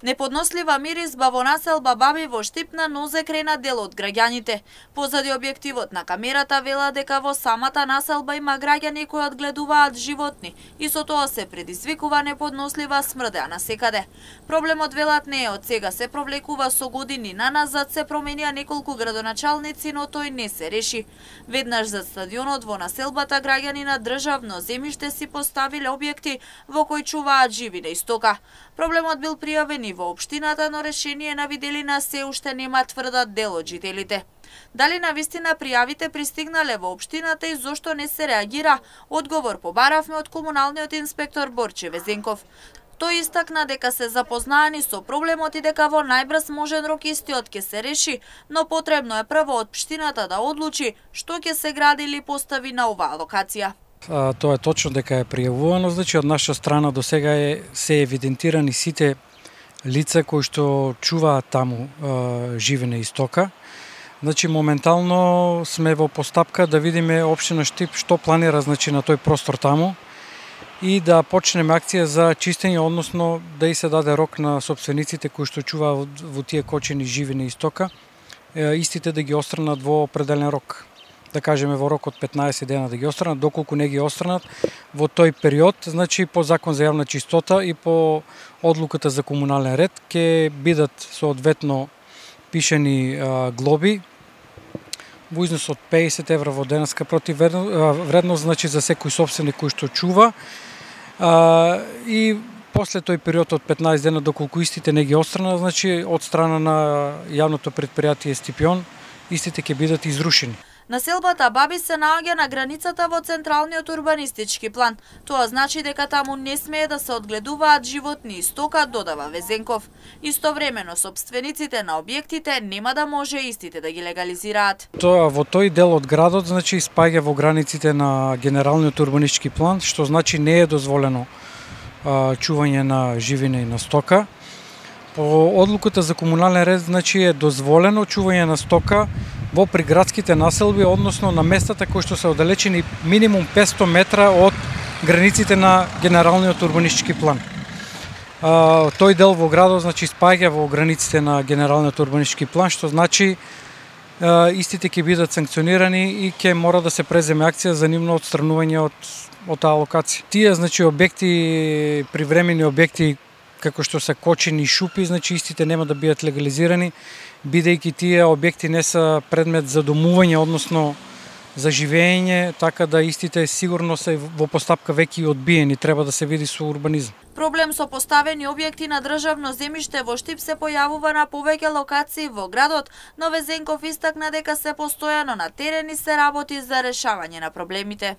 Неподнослива миризба во населба Баби во Штип на нозе крена дел од граѓаните. Позади објективот на камерата вела дека во самата населба има граѓани кои одгледуваат животни и со тоа се предизвикува неподнослива смрдеа насекаде. Проблемот велат не е од сега, се провлекува со години наназад, се променија неколку градоначалници, но тој не се реши. Веднаш за стадионот во населбата граѓани на државно земјиште си поставиле објекти во кои чуваат живина и стока. Проблемот бил пријавен и во општината, но решение на виделина се уште нема, тврдат дел од жителите. Дали навистина пријавите пристигнале во општината и зошто не се реагира? Одговор побаравме од комуналниот инспектор Борче Везенков. Тој истакна дека се запознаани со проблемот и дека во најбрз можен рок истиот ќе се реши, но потребно е прво општината да одлучи што ќе се гради или постави на оваа локација. Тоа е точно дека е пријавувано, значи од наша страна до сега се евидентирани сите лица кои што чуваат таму живина и стока. Значи моментално сме во постапка да видиме општина Штип што планира, значи, на тој простор таму и да почнеме акција за чистење, односно да и се даде рок на сопствениците кои што чуваат во тие кочени живина и стока, истите да ги отстранат во определен рок. Да кажеме во рок од 15 дена да ги отстранат, доколку не ги отстранат во тој период, значи по закон за јавна чистота и по одлуката за комунален ред ќе бидат соодветно пишени глоби во износ од 50 евра во денеска противвредност, значи за секој сопственик кој што чува, и после тој период од 15 дена доколку истите не ги отстранат, значи од страна на јавното претпријатие Стипион, истите ќе бидат изрушени. Населбата Баби се наоѓа на границата во централниот урбанистички план. Тоа значи дека таму не смее да се одгледуваат животни и стока, додава Везенков. Истовремено сопствениците на објектите нема да може истите да ги легализираат. Тоа во тој дел од градот, значи, спаѓа во границите на генералниот урбанистички план, што значи не е дозволено чување на живина и на стока. По одлуката за комунален ред, значи, е дозволено чување на стока во приградските населби, односно на местата кои што се оддалечени минимум 500 метра од границите на генералниот урбанистички план. Тој дел во градот, значи, спаѓа во границите на генералниот урбанистички план, што значи истите ќе бидат санкционирани и ќе мора да се преземе акција за нивно отстранување од таа локација. Тие, значи, објекти, привремени објекти како што се кочени и шупи, значи истите нема да бидат легализирани, бидејќи тие објекти не се предмет за домување, односно за живење, така да истите сигурно се во постапка веќе одбиени, треба да се види со урбанизм. Проблем со поставени објекти на државно земјиште во Штип се појавува на повеќе локации во градот, но Везенков истакна дека се постојано на терен и се работи за решавање на проблемите.